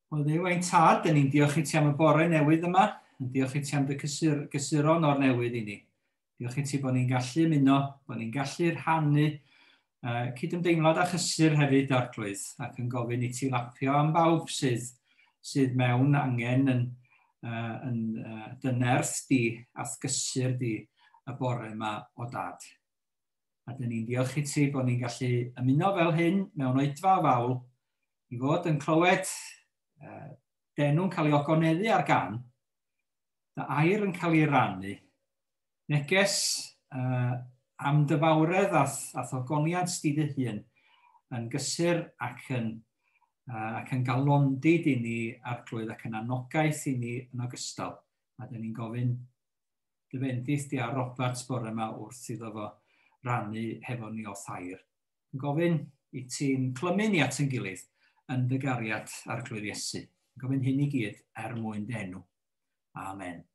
Wel, Dduw ein tad, dyn ni'n diolch i ti am y bore newydd yma. Yn diolch i ti am dy gysuron o'r newydd i ni. Diolch i ti bod ni'n gallu ymuno, bod ni'n gallu rhannu cydymdeimlad a chysur hefyd, Arglwydd, ac yn gofyn i ti lapio am bawb sydd mewn angen yn dy nerth di a'th gysur di y bore yma o dad. A dyn ni'n diolch i ti bod ni'n gallu ymuno fel hyn mewn oedfa fawl i fod yn clywed d'enw'n cael ei ogoneddu ar gan, dy air yn cael ei rannu, neges am dy fawredd a'th ogoniant di dy hun yn gysur ac yn galondid i ni, Arglwydd, ac yn anogaeth i ni yn ogystal. A dyn ni'n gofyn dy fendith di ar Robert bore yma wrth iddo fo rannu hefo ni o'th air. Yn gofyn i ti'n clymu ni at yn gilydd yn dy gariad, Arglwydd Iesu. Yn gofyn hyn i gyd er mwyn dy enw. Amen.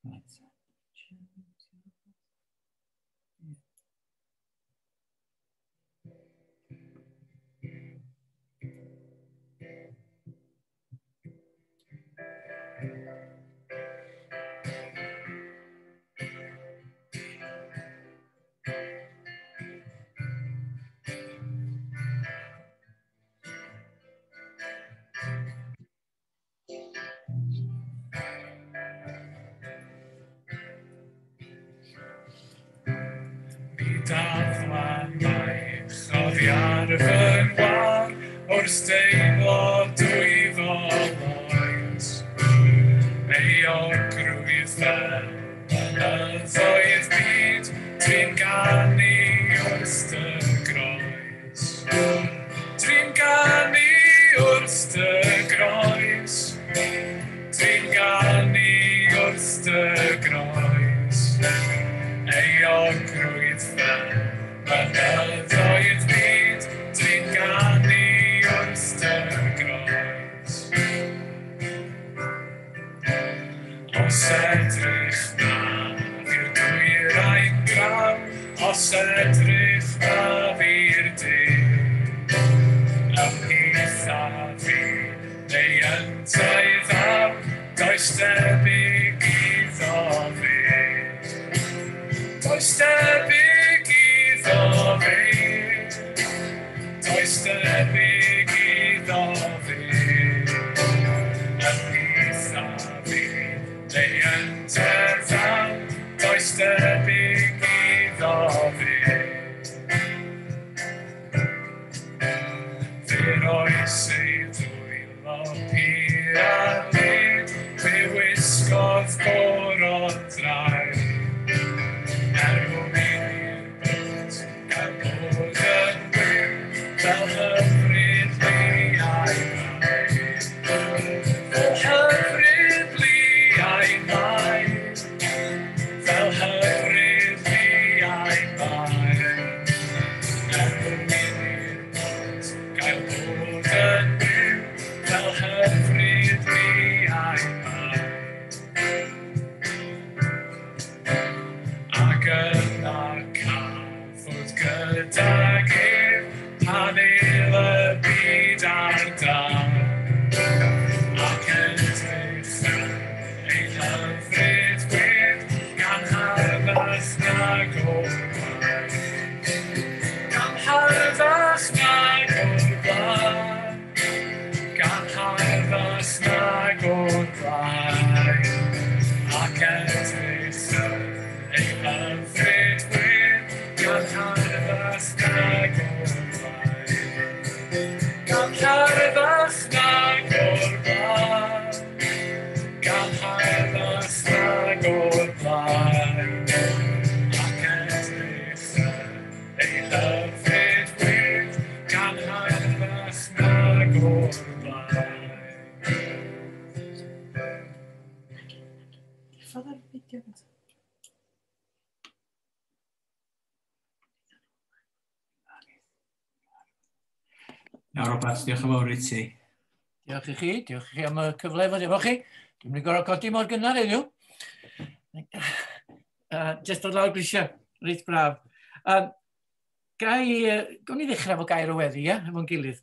Right. Ar fy ngwar wrth deimlo dwyfol oes. Euogrwydd fel mynyddoedd byd, dwi'n ganu wrth dy groes. Dwi'n ganu wrth dy groes. Dwi'n ganu wrth dy groes. Euogrwydd fel mynyddoedd byd, dwi'n ganu wrth dy groes. Os edrych na i'r dwyrain draw, os edrych na fi'r de, ymhlith a fi, neu yntau ddaw, does debyg iddo fe. Does debyg iddo fe. Does debyg iddo fe. Ymhlith a fi, neu yntau ddaw, does debyg iddo fe. Fe roes ei ddwylo pur a led, fe wisgodd goron drai. Er mwyn i'r byd gael bod yn fyw, fel hyfryd liau mai. Fel hyfryd liau mai. Fel hyfryd liau mai. Er mwyn i'r byd gael bod yn fyw, fel hyfryd liau mai. Ac yna cafodd gydag ef pan el y byd ar dân. Ac edrych yn ei hyfryd wedd gan harddach nag o'r blaen. Gan harddach nag o'r blaen. Gan harddach nag o'r blaen. Ac edrych yn ei hyfryd wedd gan harddach nag o'r blaen. Gan harddach nag o'r blaen. Gan harddach nag o'r blaen. Ac edrych yn ei hyfryd wedd gan harddach nag o'r blaen. Diffodd ar fideo gyntaf. Iawn, Robert, diolch yn fawr i ti. Diolch i chi, diolch i chi am y cyfle fod efo chi. Dwi'n mynd i gorfod codi mor gynnar heddiw. Just dod lawr grisiau, reit braf. Gawn ni ddechrau efo gair o weddi, ie, efo'n gilydd.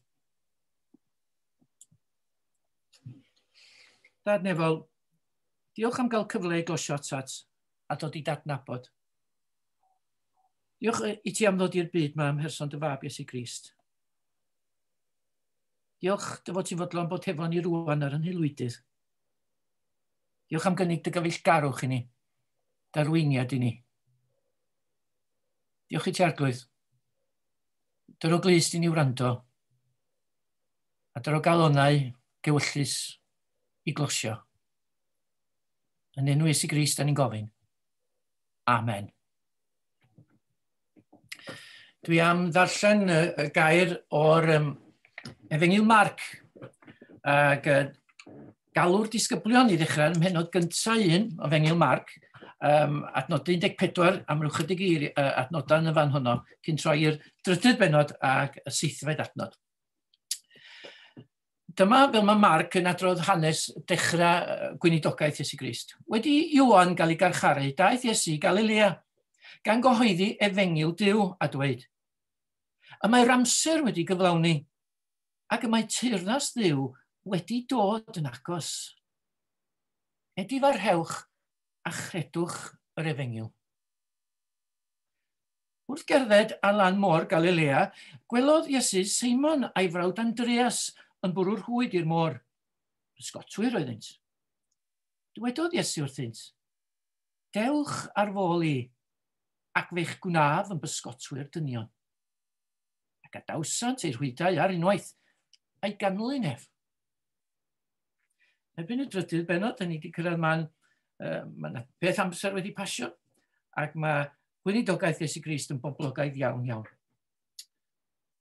Dad Nefol, diolch am gael cyfle i glosio atat a dod i dadnabod. Diolch i ti am ddod i'r byd ma ym mherson dy fab Iesu Grist. Diolch dy fod ti'n fodlon bod hefo ni rwan ar yn haelwydydd. Diolch am gynnig dy gyfeillgarwch i ni, dy arweiniad i ni. Diolch i ti Arglwydd. Dyro glust i ni wrando, a dyro galonau gewyllus i glosio. Yn enw Iesu Grist, da ni'n gofyn. Amen. Dwi am ddarllen y gair o'r Efengyl Marc, ac galw'r disgyblion i ddechrau ym mhennod gyntaf un o Efengyl Marc, adnod 14 am ryw chydig i adnodau yn y fan honno, cyn troi i'r drydydd bennod ac y seithfed adnod. Dyma fel mae Marc yn adrodd hanes dechrau gweinidogaeth Iesu Grist. Wedi Ioan gael ei garcharu, daeth Iesu i Galilea, gan gyhoeddi efengyl Duw a dweud, y mae'r amser wedi gyflawni, ac y mae teyrnas Dduw wedi dod yn agos. Edifarhewch a chredwch yr efengyl. Wrth gerdded ar lan môr Galilea, gwelodd Iesu Seimon a'i frawd Andreas yn bwrw'r rhwyd i'r môr. Pysgotwyr oeddynt. Dywedodd Iesu wrthynt, dewch ar fôl i, ac fe'ch gwnaf yn bysgotwyr dynion. Ac adawsant eu rhwydau ar unwaith, a'i ganlyn ef. Erbyn y drydydd bennod, da ni wedi cyrraedd man, mae yna peth amser wedi pasio, ac mae gweinidogaeth Iesu Grist yn boblogaidd iawn iawn.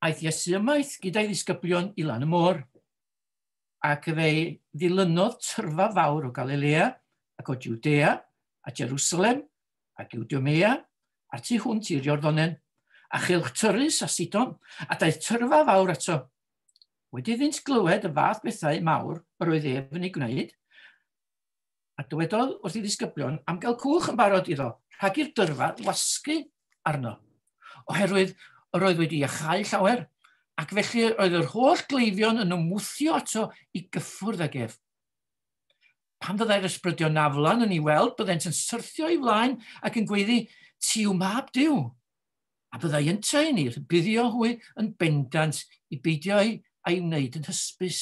Aeth Iesu ymaith gyda'i ddisgyblion i lan y môr, ac fe ddilynodd tyrfa fawr o Galilea ac o Judea a Jerusalem ac Idumea a'r tu hwnt i'r Iorddonen, a chylch Tyrus a Sidon, a daeth tyrfa fawr ato. Wedi iddynt glywed y fath bethau mawr yr oedd ef yn ei gwneud, a dywedodd wrth ei ddisgyblion am gael cwch yn barod iddo, rhag i'r dyrfa wasgu arno, oherwydd yr oedd wedi iachau llawer, ac felly oedd yr holl gleifion yn ymwthio ato i gyffwrdd ag ef. Pan fyddai'r ysbrydion aflan yn ei weld, byddent yn syrthio i flaen ac yn gweiddi, ti yw mab Duw. A byddai yntau yn ei rhybuddio hwy yn bendant i beidio a'i wneud yn hysbys.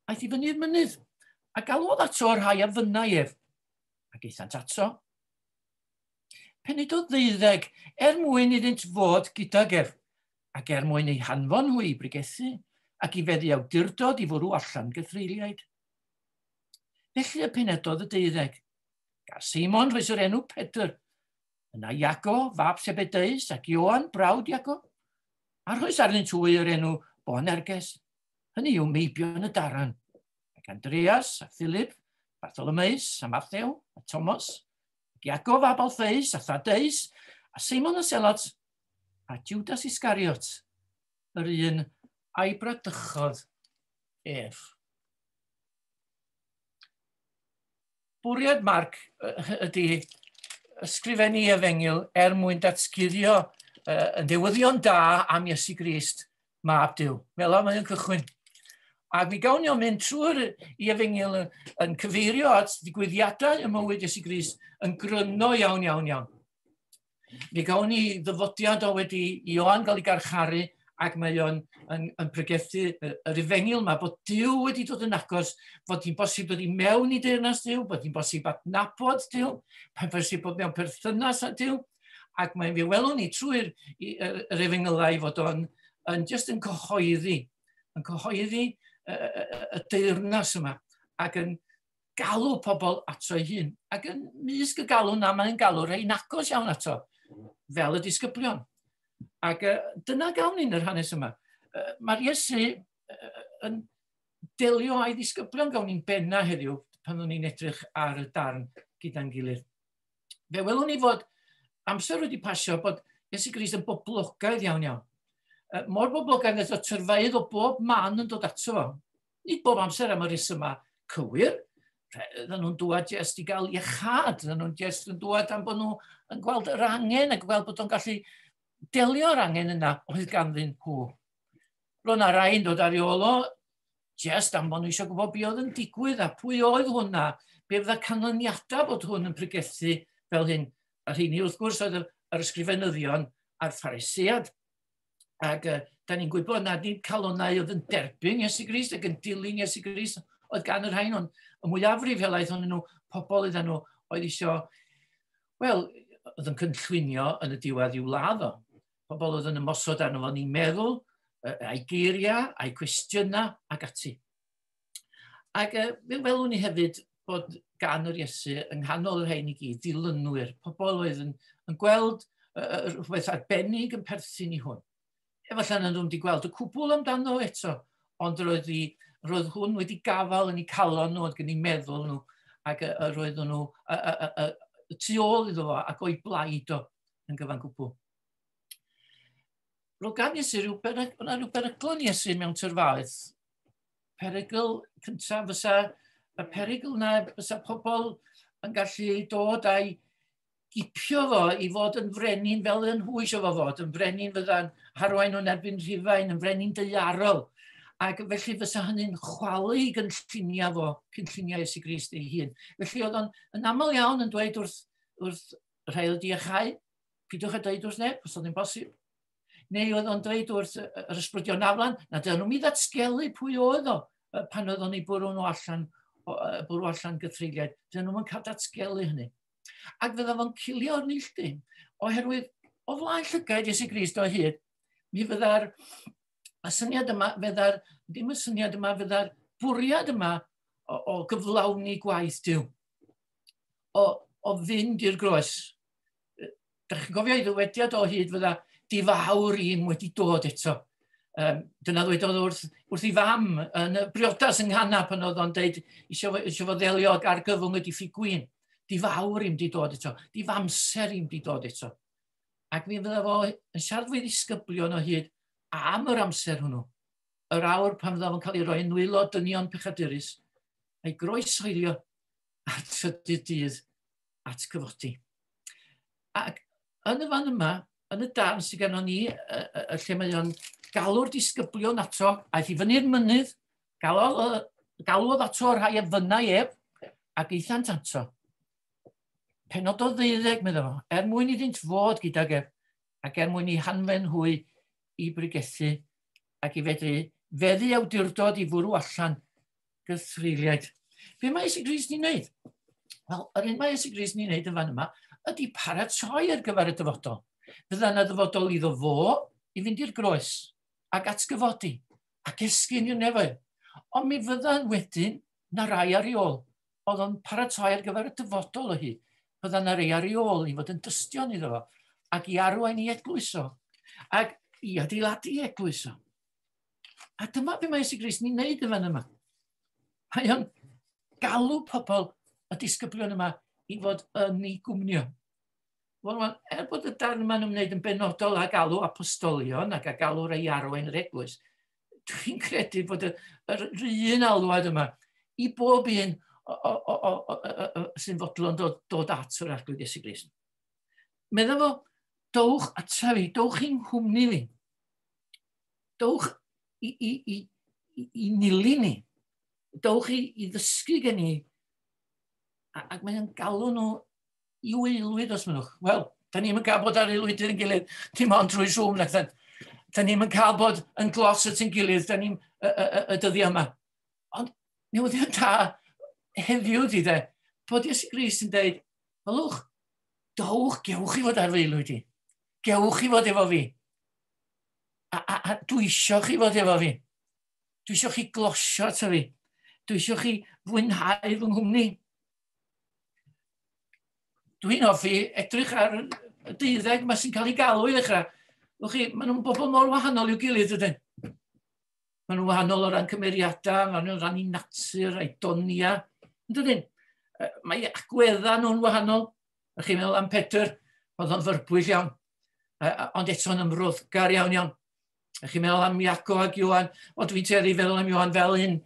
Aeth i fyny'r mynydd, a galwodd ato yr rhai a fynnai ef, ac aethant ato. Penydodd ddeuddeg er mwyn iddynt fod gydag ef, ac er mwyn eu hanfon hwy i bregethu, ac i feddu awdurdod i fwrw allan gythreuliaid. Felly y penedodd y deuddeg. Gar Seimon rhoes yr enw Pedr, yna Iago, fab Sebedeus, ac Ioan, brawd Iago, a rhoes arnynt hwy yr enw Boanerges, hynny yw meibion y daran, ac Andreas, a Philip, Bartholomeus, a Mathew, a Thomas, ac Iago fab Alphaeus, a Thaddeus, a Seimon y Selot, a Judas Iscariot, yr un a'i bradychodd ef. Bwriad Marc ydy ysgrifennu efengyl er mwyn datguddio y newyddion da am Iesu Grist, mab Duw. Fel yma mae'n cychwyn. Ac mi gawn ni o'n mynd trwy'r i efengyl yn cyfeirio at ddigwyddiadau ym mywyd Iesu Grist yn gryno iawn, iawn, iawn. Mi gawn ni ddyfodiad o wedi Ioan gael ei garcharu, ac mae o'n yn pregethu yr efengyl yma, bod Duw wedi dod yn agos, fod hi'n bosib dod i mewn i deyrnas Duw, bod hi'n bosib adnabod Duw, mae'n bosib bod mewn perthynas â Duw, ac mae'n fe welwn ni trwy'r yr efengylau fod o'n yn just yn cyhoeddi, y deyrnas yma, ac yn galw pobl ato ei hun. Ac yn mysg y galw na, mae'n galw rhai agos iawn ato, fel y disgyblion. Ac dyna gawn ni'n yr hanes yma. Mae'r Iesu yn delio â'i ddisgyblion gawn ni'n benna heddiw pan o'n ni'n edrych ar y darn gyda'n gilydd. Fe welwn ni fod amser wedi pasio bod Iesu Grist yn boblogaidd iawn iawn. Mor boblogaidd nes o tyrfaoedd o bob man yn dod ato fo. Nid bob amser am y rhesymau cywir, Dyn nhw'n dŵad jyst i gael iechad, dyn nhw'n jyst yn dŵad am bod nhw yn gweld yr angen ac gweld bod nhw'n gallu delio'r angen yna oedd ganddyn nhw. Roedd yna rai'n dod ar ei ôl o jyst am bod nhw eisiau gwybod be oedd yn digwydd a pwy oedd hwnna, be fydda canlyniadau bod hwn yn pregethu fel hyn. A rheini wrth gwrs oedd yr ysgrifenyddion a'r Pharisead. Ac da ni'n gwybod nad nid calonnau oedd yn derbyn Iesu Grist ac yn dilyn Iesu Grist oedd gan y rhain, ond y mwyafrif helaeth ohonyn nhw, pobl iddyn nhw oedd eisiau, wel, oedd yn cynllwynio yn y diwedd i'w ladd o. Pobl oedd yn ymosod arno fo, ni'n meddwl, a'i geiriau, a'i cwestiynau ac ati. Ac fe welwn ni hefyd bod gan yr Iesu yng nghanol y rhain i gyd ddilynwyr, pobl oedd yn gweld rhywbeth arbennig yn perthyn i hwn. Efallai nad nhw'n wedi gweld y cwbl amdano eto, ond roedd hwn wedi gafael yn eu calon nhw, oedd gen eu meddwl nhw, ac roedd nhw tu ôl iddo fo ac o'i blaid o yn gyfan gwbl. Roedd gan Iesu rhyw beryglon Iesu mewn tyrfaoedd. Perygl cyntaf fysa, y perygl na fysa pobl yn gallu dod a'i gipio fo i fod yn frenin fel yn nhw eisiau fo fod, yn frenin fydda'n harwain nhw'n erbyn Rhufain, yn frenin daearol. Ac felly fysa hynny'n chwalu i gynlluniau fo, cynlluniau Iesu Grist ei hun. Felly oedd o'n yn aml iawn yn dweud wrth rhai oedd iachau, pidwch a dweud wrth neb, os oedd yn bosib. Neu oedd o'n dweud wrth yr ysbrydion aflan, na dyn nhw'n mi ddatgelu pwy oedd o pan oedd o'n ei bwrw nhw allan, bwrw allan gythreuliaid. Dyn nhw'n cael datgelu hynny. Ac fydda fo'n cilio o'r neilltu, oherwydd o flaen llygaid Iesu Grist o hyd, mi fydda'r y syniad yma, fydda'r, ddim y syniad yma, fydda'r bwriad yma o gyflawni gwaith Duw, o fynd i'r groes. Dach chi'n cofio ei ddywediad o hyd fydda difawr i'm wedi dod eto. Dyna ddwedodd wrth ei fam yn y briodas yng Nghana pan oedd o'n deud eisiau fo ddelio ag argyfwng y diffyg gwin. Difawr i'm di dod eto, difamser i'm di dod eto. Ac mi fydda fo yn siarad fwy ddisgyblion o hyd am yr amser hwnnw. Yr awr pan fydda fo'n cael ei roi yn nwylo dynion pechadurus, a'i groeshoelio ar trydydd dydd at gyfodi. Ac yn y fan yma, yn y darn sydd gennon ni, y lle mae o'n galw'r disgyblion ato, aeth i fyny'r mynydd, galwodd ato rhai a fynnai ef, ac aethant ato. Penododd 12, meddai fo, er mwyn iddynt fod gydag ef, ac er mwyn i hanfen hwy i bregethu ac i fedru feddu awdurdod i fwrw allan gythreuliaid. Be mae Iesu Grist ni'n neud? Wel, yr un mae Iesu Grist ni'n neud yn fan yma ydy paratoi ar gyfer y dyfodol. Fydda yna ddyfodol iddo fo i fynd i'r groes ac atgyfodi ac esgyn i'r nefoedd. Ond mi fydda wedyn na rai ar ei ôl. Oedd o'n paratoi ar gyfer y dyfodol o hyd. Fydda na rai ar ei ôl i fod yn dystion iddo fo ac i arwain i eglwys o ac i adeiladu eglwys o. A dyma be mae Iesu Grist ni'n neud yn fan yma. Mae o'n galw pobl y disgyblion yma i fod yn ei gwmnio. Wel, er bod y darn yma'n ymwneud yn benodol â galw apostolion ac â galw rei arwain yr eglwys, dwi'n credu bod yr un alwad yma i bob un sy'n fodlon dod at yr Arglwydd Iesu Grist. Medda fo, dowch ata fi, dowch i'n nghwmni fi. Dowch i nilyn ni. Dowch i ddysgu gen i. Ac mae'n galw nhw i aelwyd os mynnwch. Wel, da ni'm yn cael bod ar aelwydydd yn gilydd, dim ond trwy Zoom, nac dan. Da ni'm yn cael bod yn glos at ein gilydd, da ni'm y dyddiau yma. Ond newyddion da heddiw di de, bod Iesu Grist yn deud, welwch, dowch, gewch chi fod ar fy aelwyd i. Gewch chi fod efo fi. A dwi isio chi fod efo fi. Dwi isio chi glosio ato fi. Dwi isio chi fwynhau fy nghwmni. Dwi'n hoffi edrych ar y 12 yma sy'n cael ei galw i ddechrau. Wch chi, maen nhw'n bobl mor wahanol i'w gilydd, ydyn. Maen nhw'n wahanol o ran cymeriadau, maen nhw'n ran i natur, a'i donia. Yn dydyn? Mae agweddau nhw'n wahanol. Ych chi'n meddwl am Pedr, oedd o'n fyrbwyll iawn, ond eto'n ymroddgar iawn iawn. Ych chi'n meddwl am Iaco ac Iwan? O, dwi'n tueddu i feddwl am Iwan fel un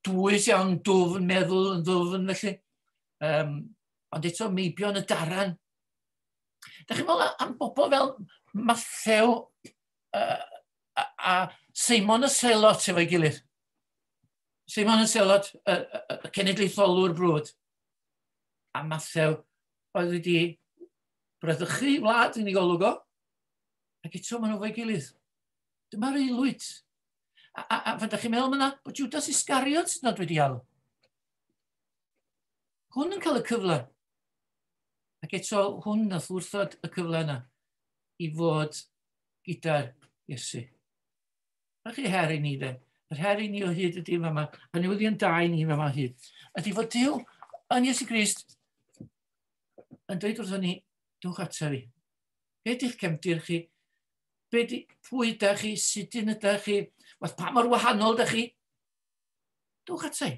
dwys iawn, dwfn, meddwl yn ddwfn felly. Ond eto meibion y daran. Da chi'n meddwl am bobl fel Mathew a Seimon y Selot efo'i gilydd. Seimon y Selot, y cenedlaetholwr brwd. A Mathew oedd wedi bradychu wlad yn ei golwg o. Ac eto maen nhw efo'i gilydd. Dyma'r aelwyd. A fan da chi'n meddwl yna bod Judas Iscariot sydd nad wedi alw. Hwn yn cael y cyfle. Ac eto hwn nath wrthod y cyfle yna i fod gyda'r Iesu. Na chi her i ni de. Yr her i ni o hyd ydy yma, a newyddion da i ni yma hyd, ydy fod Duw yn Iesu Grist yn dweud wrthon ni, dwch ata fi. Be ydych cefndir chi? Be di, pwy ydych chi? Sut un ydych chi? Wath pa mor wahanol ydych chi? Dwch ata i.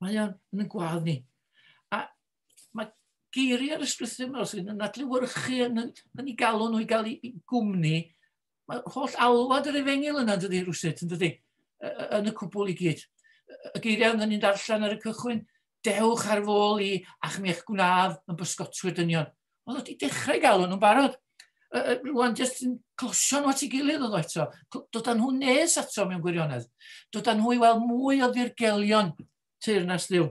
Mae o'n yn y gwadd ni. A mae geiriau'r ysgrythur yma sy'n yn adlewyrchu yn ei galw nhw i gael ei gwmni. Mae holl alwad yr efengyl yna, dydy, rhywsut, yn dydy, yn y cwbl i gyd. Y geiriau yna ni'n darllen ar y cychwyn, dewch ar fôl i a'ch mi'ch gwnaf yn bysgotwyr dynion. Oedd wedi dechrau galw nhw'n barod. Rwan jyst yn closio nhw at ei gilydd oedd o eto. Dod â nhw nes ato mewn gwirionedd. Dod â nhw i weld mwy o ddirgelion teyrnas Dduw.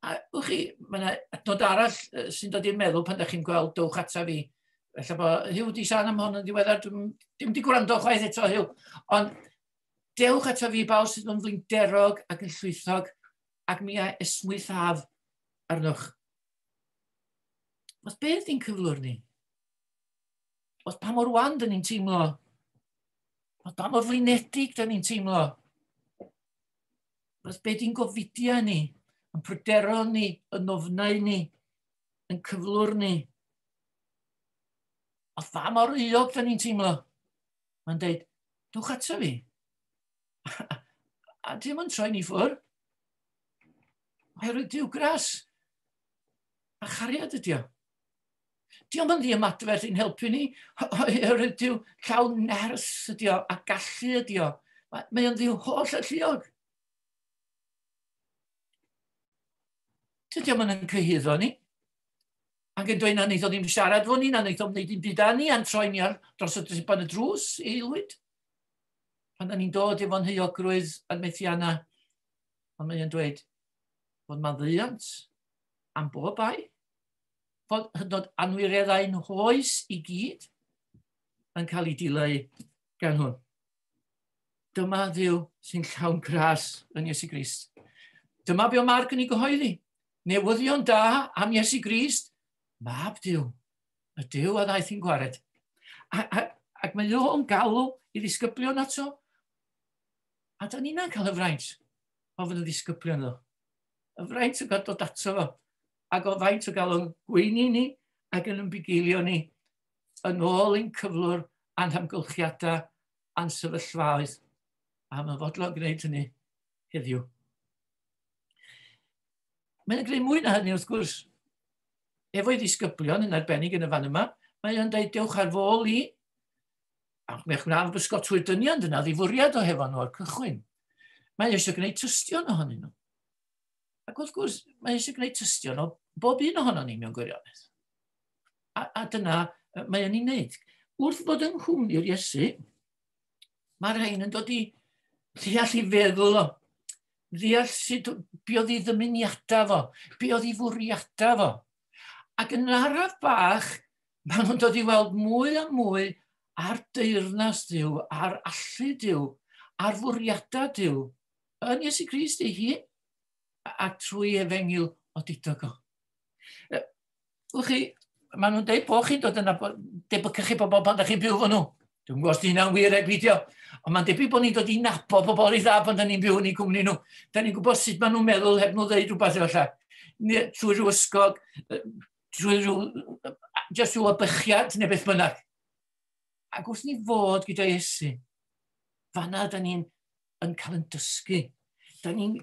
A wch chi, mae yna adnod arall sy'n dod i'r meddwl pan ydych chi'n gweld dewch ata fi. Felly bod Huw di siarad am hwn yn ddiweddar, dwi'n dim di gwrando chwaith eto Huw. Ond dewch ata fi bawb sydd yn flinderog ac yn llwythog ac mi a esmwythaf arnoch. Os beth di'n cyflwr ni? Os pa mor wan dyn ni'n teimlo? Os pa mor flinedig dyn ni'n teimlo? Os beth di'n gofidiau ni? Yn pryderon ni, yn ofnau ni, yn cyflwr ni? Os pa mor euog dyn ni'n teimlo? Mae'n deud, dwch ato fi. A dim yn troi ni ffwrdd. Oherwydd Duw gras a chariad ydi o. Diolch yn ddiymadferth i'n helpu ni, oherwydd Duw llawn nerth ydi o a gallu ydi o. Mae o'n ddiw holl alluog. Dydy o'm yn cyhuddo ni. Ac yn dweud na wneith o ddim siarad fo ni, na wneith o'm wneud dim byd â ni, a'n troi ni ar dros y triban y drws i aelwyd. Pan da ni'n dod efo'n heuogrwydd a'n methiannau, ond mae o'n dweud fod maddeuant am bob bai, fod hyd yn oed anwireddau'n hoes i gyd yn cael ei dileu gan hwn. Dyma Dduw sy'n llawn gras yn Iesu Grist. Dyma be o Marc yn ei gyhoeddi. Newyddion da am Iesu Grist, mab Duw, y Duw a ddaeth i'n gwared. Ac mae o'n galw i ddisgyblion ato. A da ni'n cael y fraint o fod yn ddisgyblion iddo. Y fraint o gael dod ato fo. Ac o faint o gael o'n gweini ni ac yn ymbugeilio ni yn ôl ein cyflwr a'n hamgylchiadau a'n sefyllfaoedd. A mae'n fodlon gwneud hynny heddiw. Mae'n gwneud mwy na hynny wrth gwrs. Efo'i ddisgyblion yn arbennig yn y fan yma, mae o'n dweud dewch ar fôl i, ac mae'ch gwna'n bysgotwyr dynion, dyna ddifwriad o hefo nhw o'r cychwyn. Mae eisiau gwneud tystion ohonyn nhw. Ac wrth gwrs, mae eisiau gwneud tystion o bob un ohono ni mewn gwirionedd. A dyna mae o'n ei wneud. Wrth fod yng nghwmni'r Iesu, mae'r rhain yn dod i ddeall i feddwl o. Ddeall sut be oedd ei ddymuniadau fo, be oedd ei fwriadau fo. Ac yn araf bach, maen nhw'n dod i weld mwy a mwy ar deyrnas Duw, ar allu Duw, ar fwriadau Duw, yn Iesu Grist ei hun, a trwy efengyl odidog o. Wch chi, maen nhw'n dweud bod chi'n dod yna, debycach chi bobl pan da chi'n byw fo nhw. Dwi'n gwybod os di hynna'n wir ai beidio, ond mae'n debyg bod ni'n dod i nabod bobl reit dda pan da ni'n byw yn eu cwmni nhw. Da ni'n gwybod sut maen nhw'n meddwl heb nhw ddeud rhywbeth efallai. Trwy rhyw ysgog, trwy rhyw, just rhyw abychiad neu beth bynnag. Ac wrth ni fod gyda Iesu, fanna da ni'n yn cael yn dysgu. Da ni'n...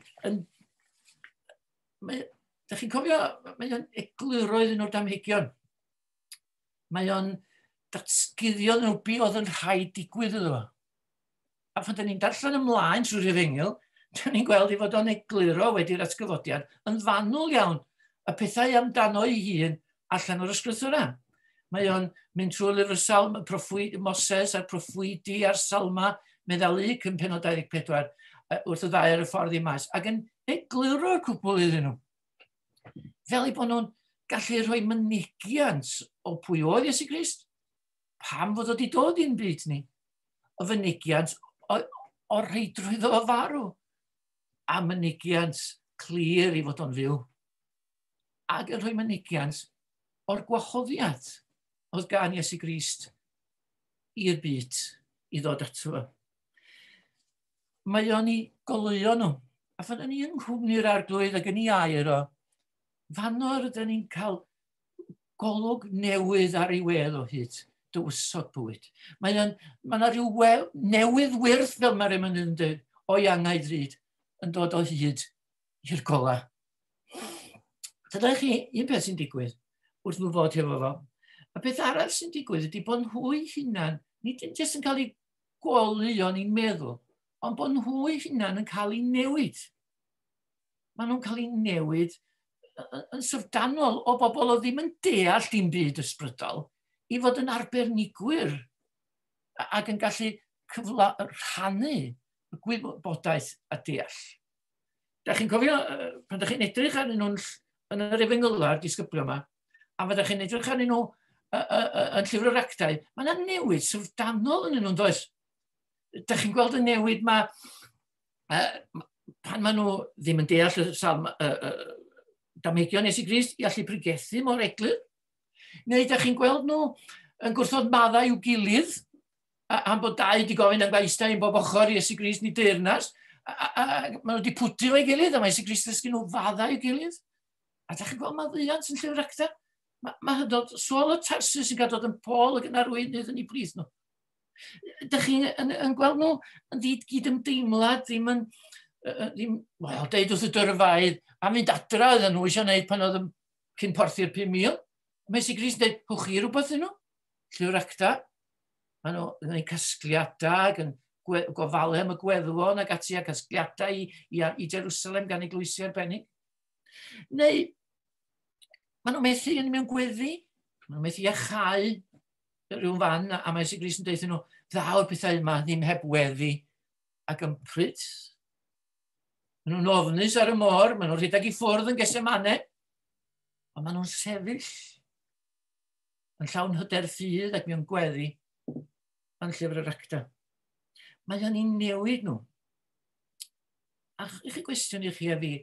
Da chi'n cofio, mae o'n egluro iddyn nhw'r damhegion. Mae o'n Datguddio nhw be oedd yn rhaid digwydd iddo fo. A phan dyn ni'n darllen ymlaen trwy'r efengyl, dyn ni'n gweld ei fod o'n egluro wedi'r atgyfodiad yn fanwl iawn y pethau amdano ei hun allan o'r ysgrythura. Mae o'n mynd trwy lyfr Salm, proffwyd, Moses a'r proffwydi a'r Salma, meddal Luc yn penod 24, wrth y ddau ar y ffordd i mas, ac yn egluro'r cwbl iddyn nhw. Fel eu bod nhw'n gallu rhoi mynegiant o pwy oedd Iesu Grist, pam fod o wedi dod i'n byd ni, o fynegiant o'r rheidrwydd o farw, a mynegiant clir i fod o'n fyw, ac yn rhoi mynegiant o'r gwahoddiad oedd gan Iesu Grist i'r byd i ddod ato fo. Mae o'n i goleuo nhw, a phan o'n i yng nghwmni'r arglwydd ac yn ei air o, fanno rydyn ni'n cael golwg newydd ar ei wedd o hyd, dywysog bywyd. Mae yna rhyw newydd wyrth, fel mae'r emyn yn dweud, o'i angau drud, yn dod o hyd i'r gola. Dyna chi, un peth sy'n digwydd wrth nhw fod hefo fo. A peth arall sy'n digwydd ydy bod nhw'i hunan, nid yn jyst yn cael ei goleuo ni'n meddwl, ond bod nhw'i hunan yn cael ei newid. Maen nhw'n cael ei newid yn syfrdanol o bobl oedd ddim yn deall dim byd ysbrydol i fod yn arbenigwyr ac yn gallu rhannu y gwybodaeth a deall. Da chi'n cofio, pan da chi'n edrych arnyn nhw'n yn yr efengyla'r disgyblion yma, a pan da chi'n edrych arnyn nhw yn llyfr yr actau, mae yna newid syfrdanol yn nhw'n does? Da chi'n gweld y newid ma, pan maen nhw ddim yn deall y salm, damhegion Iesu Grist i allu pregethu mor eglur? Neu da chi'n gweld nhw yn gwrthod maddau i'w gilydd, am bod dau wedi gofyn am gael eistedd un bob ochr i Iesu Grist neu deyrnas, a maen nhw wedi pwdu o'i gilydd, a mae Iesu Grist ddysgu nhw faddau i'w gilydd. A da chi'n gweld maddeuant yn llyfr acta? Mae hynod Saul o Tarsus yn cael dod yn Paul ac yn arweinydd yn ei blith nhw. Da chi'n yn gweld nhw yn ddyd gyd-ymdeimlad, ddim yn, ddim, wel, deud wrth y dyrfaedd, a mynd adra oedden nhw eisiau gwneud pan oedd yn cyn porthi'r 5,000. Mae Iesu Grist yn dweud, hwch chi rhywbeth yn nhw? Llyfr acta. Maen nhw yn gwneud casgliadau ac yn gofalu am y gweddwon ac ati a casgliadau i Jerusalem gan eglwysi arbennig. Neu, maen nhw'n methu yn mewn gweddi, maen nhw'n methu iachau rhyw fan, a mae Iesu Grist yn deud nhw, ddaw'r pethau yma ddim heb weddi ac ympryd. Maen nhw'n ofnus ar y môr, maen nhw'n rhedeg i ffwrdd yn Gethsemane, ond maen nhw'n sefyll yn llawn hyder ffydd ac mewn gweddi yn llyfr yr acta. Mae o'n ei newid nhw. A i chi gwestiwn i chi a fi,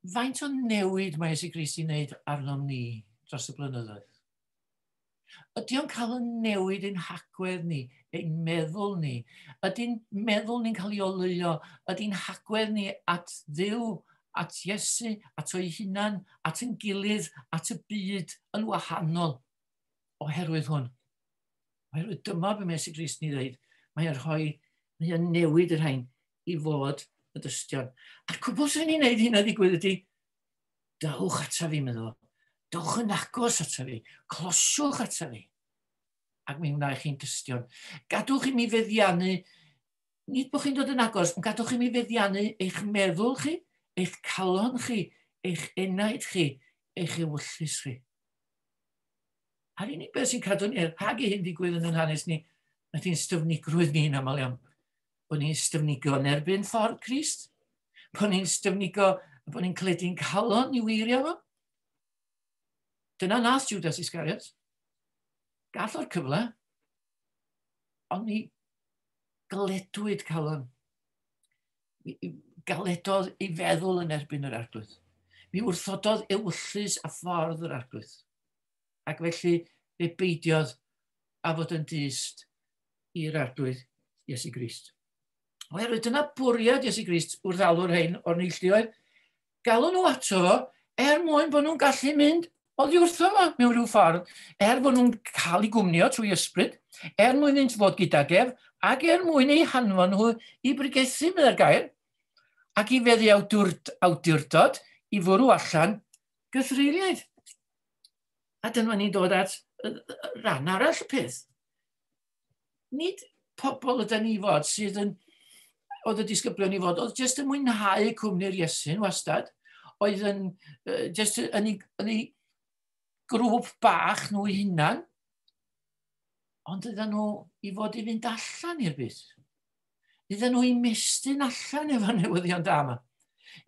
faint o newid mae Iesu Grist i wneud arnom ni dros y blynyddoedd? Ydy o'n cael y newid ein hagwedd ni, ein meddwl ni? Ydy'n meddwl ni'n cael ei oleuo? Ydy'n hagwedd ni at Dduw, at Iesu, at o'i hunan, at ein gilydd, at y byd yn wahanol oherwydd hwn? Oherwydd dyma be mae Iesu Grist ni ddweud. Mae'n rhoi, mae'n newid yr rhain i fod y dystion. A'r cwbl sy'n ni'n neud hynna ddigwydd ydy, dewch ata fi, meddwl. Dewch yn agos ata fi. Closiwch ata fi. Ac mi wna i chi'n dystion. Gadwch i mi feddiannu, nid bod chi'n dod yn agos, ond gadwch i mi feddiannu eich meddwl chi, eich calon chi, eich enaid chi, eich ewyllys chi. A'r unig beth sy'n cadw ni rhag i hyn digwydd yn ein hanes ni, ydy'n styfnigrwydd ni'n aml iawn. Bod ni'n styfnigo yn erbyn ffordd Crist, bod ni'n styfnigo, bod ni'n cledu'n calon i weirio fo. Dyna nath Judas Iscariot. Gall o'r cyfle, ond ni galedwyd calon. Mi galedodd ei feddwl yn erbyn yr arglwydd. Mi wrthododd ewyllys a ffordd yr arglwydd. Ac felly fe beidiodd a fod yn dyst i'r arglwydd Iesu Grist. Oherwydd dyna bwriad Iesu Grist wrth alw'r rhain o'r neilltuoedd. Galw nhw ato fo er mwyn bod nhw'n gallu mynd oddi wrtho fo mewn rhyw ffordd, er bod nhw'n cael eu gwmnio trwy ysbryd, er mwyn iddynt fod gydag ef, ac er mwyn eu hanfon nhw i bregethu, meddai'r gair, ac i feddu awdurdod i fwrw allan gythreuliaid. A dyma ni'n dod at Rhan arall y peth. Nid pobl ydy ni fod sydd yn, oedd y disgyblion i fod, oedd jyst yn mwynhau cwmni'r Iesu'n wastad, oedd yn jyst yn ei grŵp bach nhw eu hunan, ond ydyn nhw i fod i fynd allan i'r byd. Ydyn nhw i mestyn allan efo'r newyddion da yma.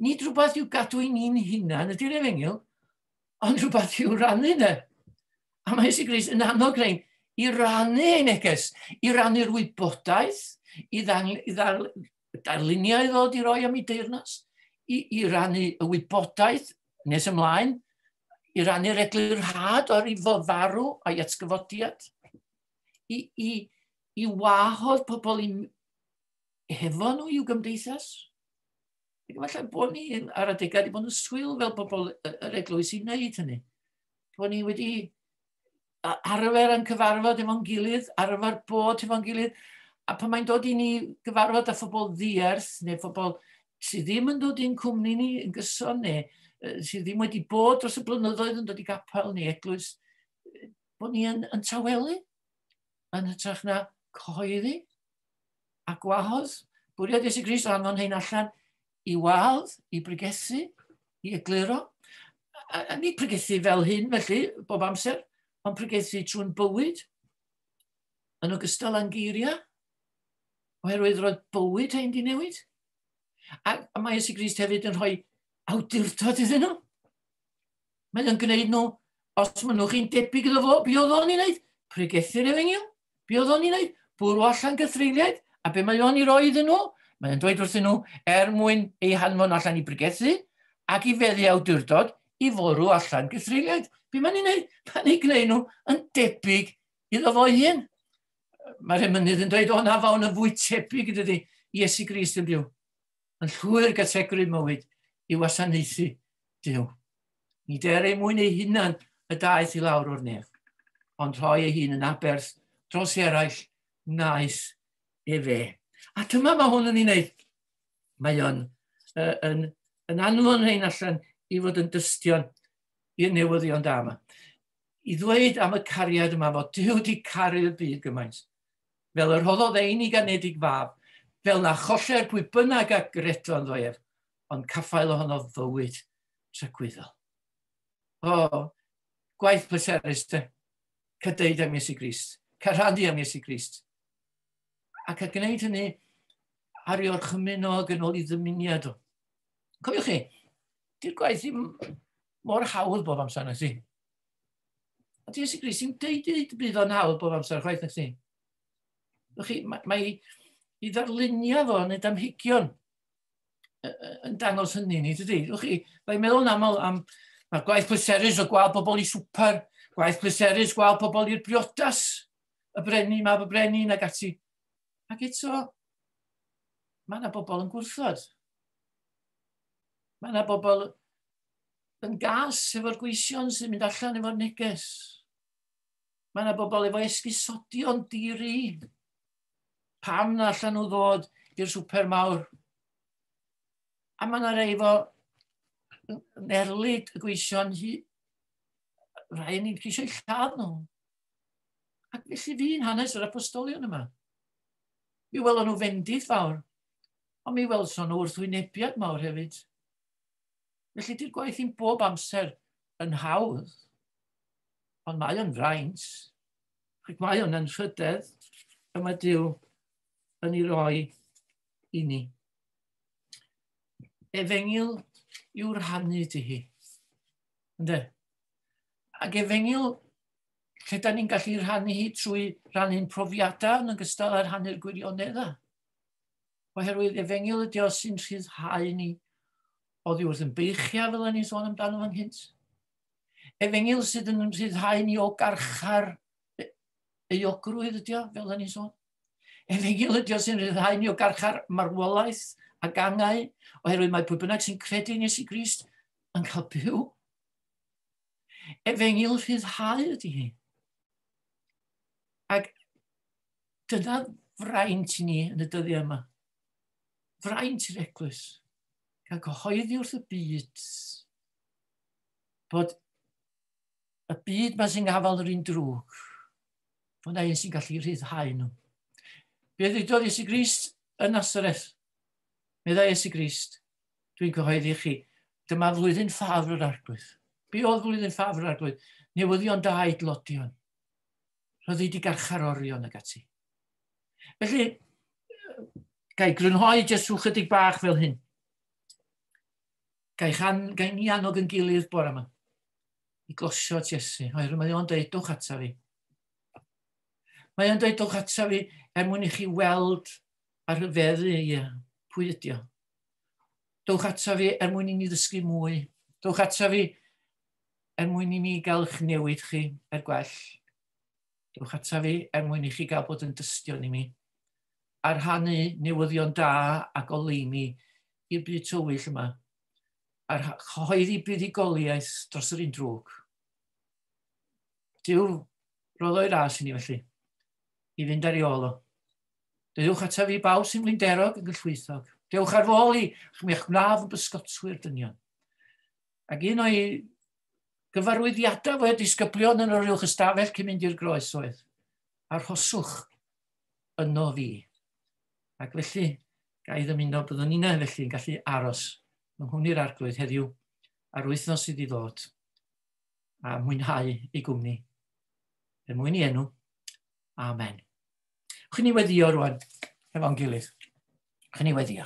Nid rhywbeth i'w gadw i ni'n hunan ydy'r efengyl, ond rhywbeth i'w rannu ne. A mae Iesu Grist yn annog rhain i rannu ei neges, i rannu'r wybodaeth, i darluniau ddod i roi am ei deyrnas, i rannu y wybodaeth nes ymlaen, i rannu'r eglurhad o'r i fod farw a'i atgyfodiad, i wahodd pobl i hefo nhw i'w gymdeithas. Ac efallai bod ni ar adegau wedi bod yn swil fel pobl yr eglwys i wneud hynny. Bod ni wedi arfer yn cyfarfod efo'n gilydd, arfer bod efo'n gilydd, a pan mae'n dod i ni gyfarfod â phobl ddiarth, neu phobl sydd ddim yn dod i'n cwmni ni yn gyson, neu sydd ddim wedi bod dros y blynyddoedd yn dod i gapel neu eglwys, bod ni yn tawelu, yn hytrach na cyhoeddi a gwahodd. Bwriad Iesu Grist o anfon hein allan i wahodd, i bregethu, i egluro. A nid pregethu fel hyn felly, bob amser, ond pregethu trwy'n bywyd, yn ogystal â'n geiriau, oherwydd roedd bywyd hein di newid. A mae Iesu Grist hefyd yn rhoi awdurdod iddyn nhw. Mae'n gwneud nhw, os maen nhw chi'n debyg iddo fo, be oedd o'n ei wneud? Pregethu'r efengyl. Be oedd o'n ei wneud? Bwrw allan gythreuliaid. A be mae o'n ei roi iddyn nhw? Mae'n dweud wrthyn nhw er mwyn eu hanfon allan i bregethu ac i feddu awdurdod i fwrw allan gythreuliaid. Be mae'n ei wneud? Mae'n ei gwneud nhw yn debyg iddo fo ei hun. Mae'r emynydd yn dweud, o na fawn yn fwy tebyg dydy Iesu Grist yn byw. Yn llwyr gysegru mywyd i wasanaethu Duw. Nid er ei mwyn ei hunan y daeth i lawr o'r nef, ond rhoi ei hun yn aberth dros eraill wnaeth efe. A dyma mae hwn yn ei wneud. Mae o'n yn anfon rhain allan i fod yn dystion i'r newyddion da yma. I ddweud am y cariad yma fod Duw wedi caru'r byd gymaint. Fel yr rhoddodd ei unig anedig fab, fel na choller pwy bynnag a gredo ynddo ef, ond caffael ohono fywyd tragwyddol. O, gwaith pleserus te. Cael am Iesu Grist. Cael rhannu am Iesu Grist. Ac a gwneud hynny ar ei orchymyn o ac yn ôl i ddymuniad o. Cofiwch chi, di'r gwaith ddim mor hawdd bob amser na si. A di Iesu Grist ddim deud i bydd o'n hawdd bob amser chwaith na si. Chi, mae i ddarlunio fo yn y damhigion yn dangos hynny ni, dydy? Chi, mae'n meddwl yn aml am mae'r gwaith pleserus o gweld pobl i swper, gwaith pleserus gweld pobl i'r briodas, y brenin, mab y brenin ac ati. Ac eto, mae yna bobl yn gwrthod. Mae yna bobl yn gas efo'r gweision sy'n mynd allan efo'r neges. Mae yna bobl efo esgusodion diri. Pam na allan nhw ddod i'r swper mawr? A mae yna rei efo yn erlid y gweision hi, rhai ni'n ceisio eu lladd nhw. Ac felly fi'n hanes yr apostolion yma. Mi welon nhw fendith fawr, ond mi welson nhw wrthwynebiad mawr hefyd. Felly di'r gwaith i'n bob amser yn hawdd, ond mae o'n fraint, ac mae o'n anrhydedd y mae Duw yn ei roi i ni. Efengyl i'w rhannu di hi. Ynde? Ac efengyl lle da ni'n gallu rhannu hi trwy rannu'n profiadau yn ogystal â rhannu'r gwirioneddau. Oherwydd efengyl ydi o sy'n rhyddhau ni oddi wrth yn beichiau fel ni'n sôn amdano fan gynt. Efengyl sydd yn rhyddhau ni o garchar euogrwydd ydi o, fel ni'n sôn. Efengyl ydi o sy'n rhyddhau ni o garchar marwolaeth ac angau, oherwydd mae pwy bynnag sy'n credu yn Iesu Grist yn cael byw. Efengyl rhyddhau ydi hi. Ac dyna fraint i ni yn y dyddiau yma. Fraint i'r eglwys. Cael cyhoeddi wrth y byd bod Y byd ma sy'n gafael yr un drwg. Fod na un sy'n gallu rhyddhau nhw. Be ddudodd Iesu Grist yn Nazareth? Meddai Iesu Grist, dwi'n cyhoeddi chi, dyma flwyddyn ffafr yr arglwydd. Be oedd flwyddyn ffafr yr arglwydd? Newyddion da i dlodion. Rhyddid i garcharorion ag ati. Felly, gai grynhoi jyst rhyw chydig bach fel hyn. Gai, chan, gai ni annog yn gilydd bore yma i glosio at Iesu. Oherwydd mae o'n dweud, dwch ata fi. Mae o'n dweud, dwch ata fi er mwyn i chi weld a rhyfeddu ie, pwy ydi o. Dwch ata fi er mwyn i ni ddysgu mwy. Dwch ata fi er mwyn i mi gael eich newid chi er gwell. Dwch ata fi er mwyn i chi gael bod yn dystion i mi. A rhannu newyddion da a goleuni i'r byd tywyll yma. A chyhoeddi buddugoliaeth dros yr un drwg. Duw roddo'i ras i ni felly, i fynd ar ei ôl o. Dewch ata fi bawb sy'n flinderog yn gyllwythog. Dewch ar fôl i, mi eich gwnaf yn bysgotwyr dynion. Ac un o'i gyfarwyddiadau fo disgyblion yn yr uwch ystafell cyn mynd i'r groes oedd, arhoswch yno fi. Ac felly, ga i ddymuno byddwn ni'n felly yn gallu aros yng nghwmni'r arglwydd heddiw a'r wythnos sydd i ddod a mwynhau ei gwmni. Er mwyn i enw. Amen. Chwn ni weddio rwan efo'n gilydd. Chwn ni weddio.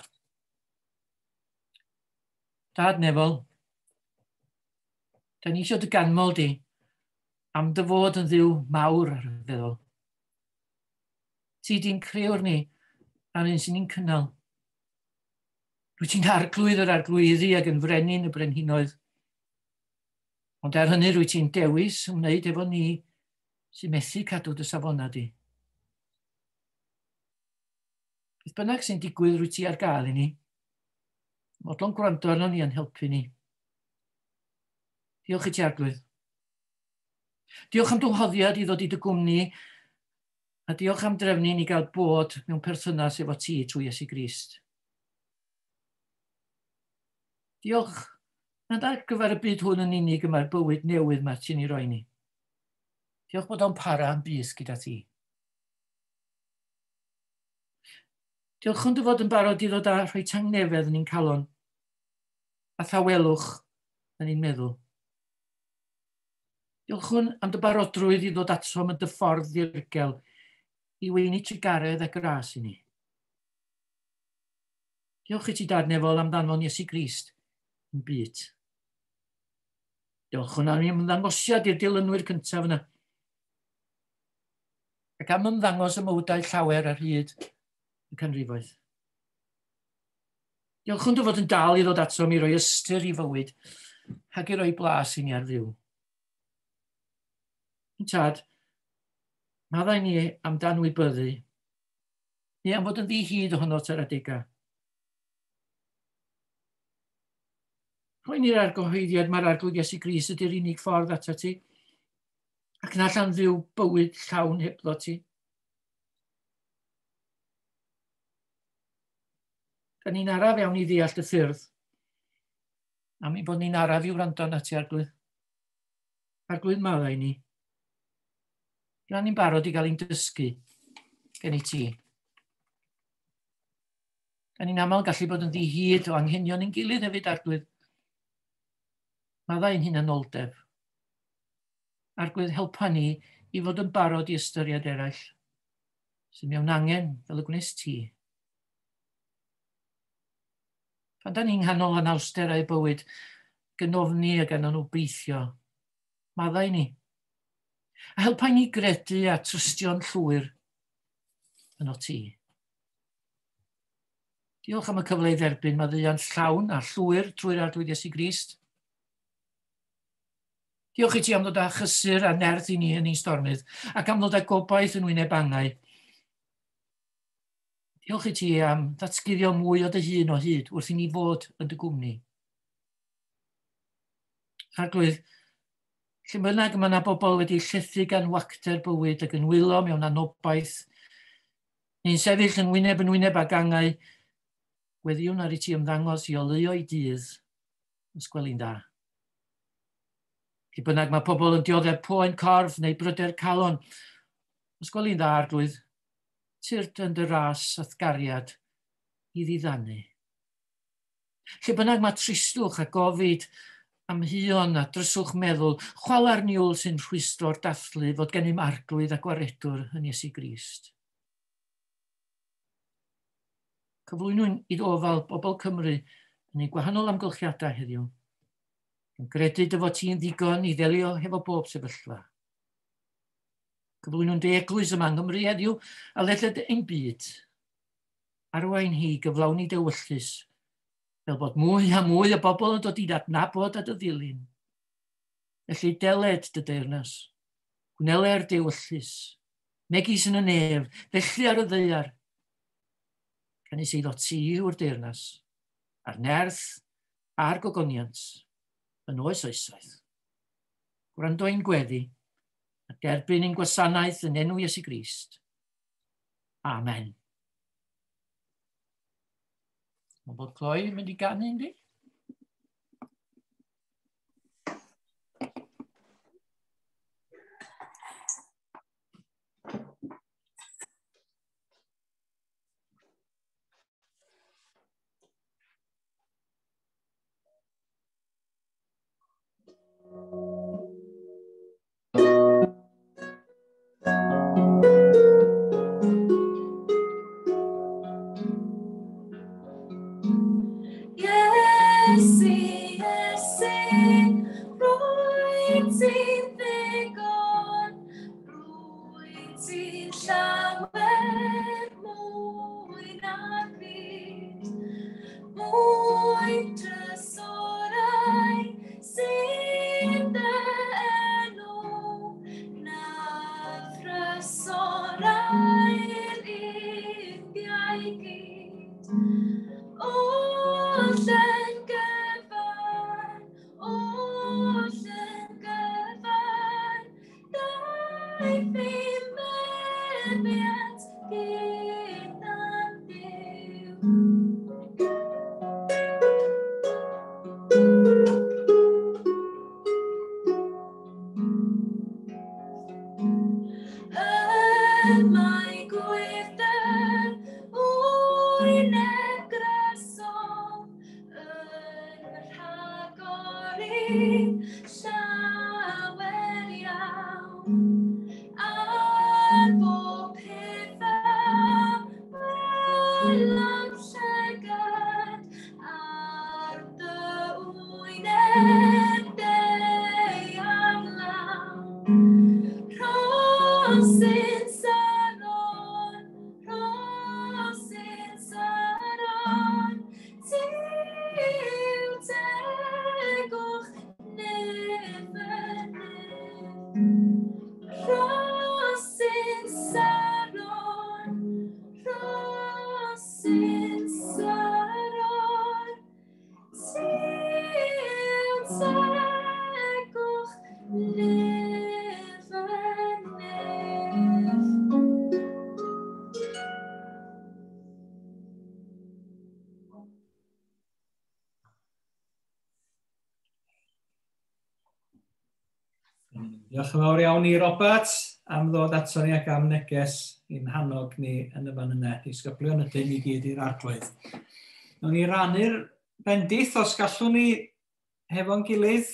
Dad nefol, da ni eisiau dy ganmol di am dy fod yn ddiw mawr ar y feddwl. Ti di'n creuwr ni a'r un sy'n ni'n cynnal. Rwy ti'n arglwydd yr arglwyddi ac yn frenin y brenhinoedd. Ond er hynny rwy ti'n dewis ymwneud efo ni sy'n methu cadw dy safonau di. Beth bynnag sy'n digwydd rwy ti ar gael i ni. Modlon gwrando arno ni yn helpu ni. Diolch i ti arglwydd. Diolch am dy i ddod i dy gwmni a diolch am drefnu ni gael bod mewn perthynas efo ti trwy Iesu Grist. Diolch nad ar gyfer y byd hwn yn unig y mae'r bywyd newydd mae ti'n ei roi ni. Diolch bod o'n para am bys gyda ti. Diolch yn dy fod yn barod i ddod â rhoi tangnefedd yn ein calon a thawelwch yn ein meddwl. Diolchwn am dy barodrwydd i ddod atom yn dy ffordd ddirgel i weini trugaredd a gras i ni. Diolch i ti dad nefol am ddanfon Iesu Grist yn byd. Diolch am ymddangosiad i'r dilynwyr cyntaf yna. Ac am ymddangos y mywydau llawer ar hyd y canrifoedd. Diolch yn dy fod yn dal i ddod atom i roi ystyr i fywyd ac i roi blas i ni ar fyw. Yn tad, maddau ni am danwybyddu, ni am fod yn ddi-hyd ohono ar adegau. Rhoi ni'r argyhoeddiad mae'r arglwydd Iesu Grist ydy'r unig ffordd ato ti, ac na allan fyw bywyd llawn hebddo ti. Da ni'n araf iawn i ddeall y ffyrdd, am ein bod ni'n araf i wrando arna ti, arglwydd. Arglwydd maddau ni. Rydyn ni'n barod i gael ein dysgu gen i ti. Da ni'n aml gallu bod yn ddihyd o anghenion ein gilydd hefyd, arglwydd. Maddau ein hunanoldeb. Arglwydd helpa ni i fod yn barod i ystyried eraill sy'n mewn angen fel y gwnes ti. Pan da ni'n nghanol anawsterau bywyd, gynofni ac anobeithio, maddau ni. A helpa ni gredu a trystio'n llwyr yno ti. Diolch am y cyfle i dderbyn maddeuant llawn a llwyr trwy'r Arglwydd Iesu Grist. Diolch i ti am ddod â chysur a nerth i ni yn ein stormydd ac am ddod â gobaith yn wyneb angau. Diolch i ti am ddatguddio mwy o dy hun o hyd wrth i ni fod yn dy gwmni. Arglwydd, lle bynnag mae yna bobl wedi llethu gan wacter bywyd ac yn wylo mewn anobaith, neu'n sefyll yn wyneb yn wyneb ag angau, weddiwn ar i ti ymddangos i oleuo i dydd, os gweli'n dda. Lle bynnag mae pobl yn dioddef poen corff neu bryder calon, os gweli'n dda, Arglwydd, tyrd yn dy ras a'th gariad i ddiddanu. Lle bynnag mae tristwch a gofid amheuon a dryswch meddwl, chwala'r niwl sy'n rhwystro'r dathlu fod gennym Arglwydd a Gwaredwr yn Iesu Grist. Cyflwynwn i ofal bobl Cymru yn eu gwahanol amgylchiadau heddiw. Yn gredu dy fod ti'n ddigon i ddelio hefo bob sefyllfa. Cyflwynwn dy eglwys yma yng Nghymru heddiw a ledled ein byd. Arwain hi gyflawni dy ewyllys, fel bod mwy a mwy o bobl yn dod i adnabod a dy ddilyn. Felly deled dy deyrnas, gwneler dy ewyllys, megis yn y nef, felly ar y ddaear. Canys eiddo ti yw'r deyrnas, a'r nerth a'r gogoniant, yn oes oesoedd. Gwrando ein gweddi, a derbyn ein gwasanaeth yn enw Iesu Grist. Amen. Mae bod Chloe yn mynd i ganu, yndi? Iesu, Iesu, rwyt ti'n ddigon, rwyt ti'n llawer mwy na'r byd, mwy trysorau sy'n dy enw na thrysorau'r Indiau gyd. Oll yn gyfan, oll yn gyfan, daeth i meddiant gyda'n Duw. Y mae gwyrddau wyneb grasol yn rhagori llawer iawn. Ar bob peth a welodd llygad, ar dy wyneb deuaf law. Rhosyn Saron, rhosyn Saron, ti yw tegwch nef y nef. Rhosyn Saron, rhosyn Saron, ti yw tegwch nef y nef. Diolch yn fawr iawn i Robert am ddod ato ni ac am neges i'n hannog ni yn y fan yna. Disgyblion ydyn ni gyd i'r Arglwydd. Nawn ni rannu'r bendith os gallwn ni hefo'n gilydd.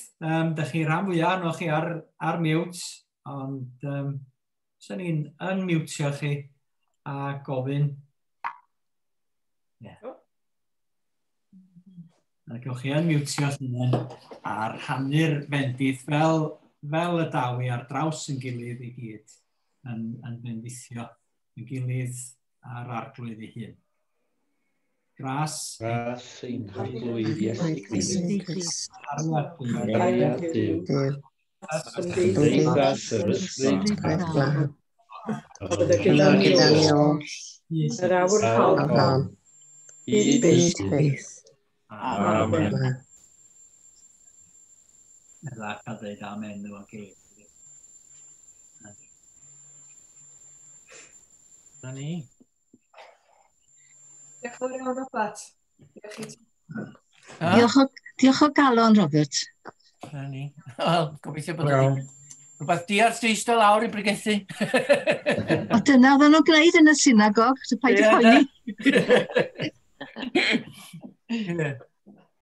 Dych chi rhan fwyaf arnoch chi ar mute, ond 'sen ni'n unmutio chi a gofyn. Ie. A gewch chi unmutio hunain a rhannu'r bendith fel y daw i ar draws yn gilydd i gyd yn bendithio yn gilydd a'r Arglwydd ei hun. Gras. Gras ein Harglwydd Iesu Grist. Cariad Duw. Cymdeithas yr Ysbryd Glân. Gyda ni oll. Yr awr hon. Hyd Byth. byth. Amen. Edda a dweud amen efo'n gilydd. Na ni. Diolch yn fawr iawn, Robert. Diolch i ti. Ha? Diolch o galon, Robert. na ni. Wel, gobeithio bod wedi rhywbeth diarth di eistedd lawr i bregethu. O, dyna oedden nhw'n gwneud yn y synagog, so paid â poeni. Ie.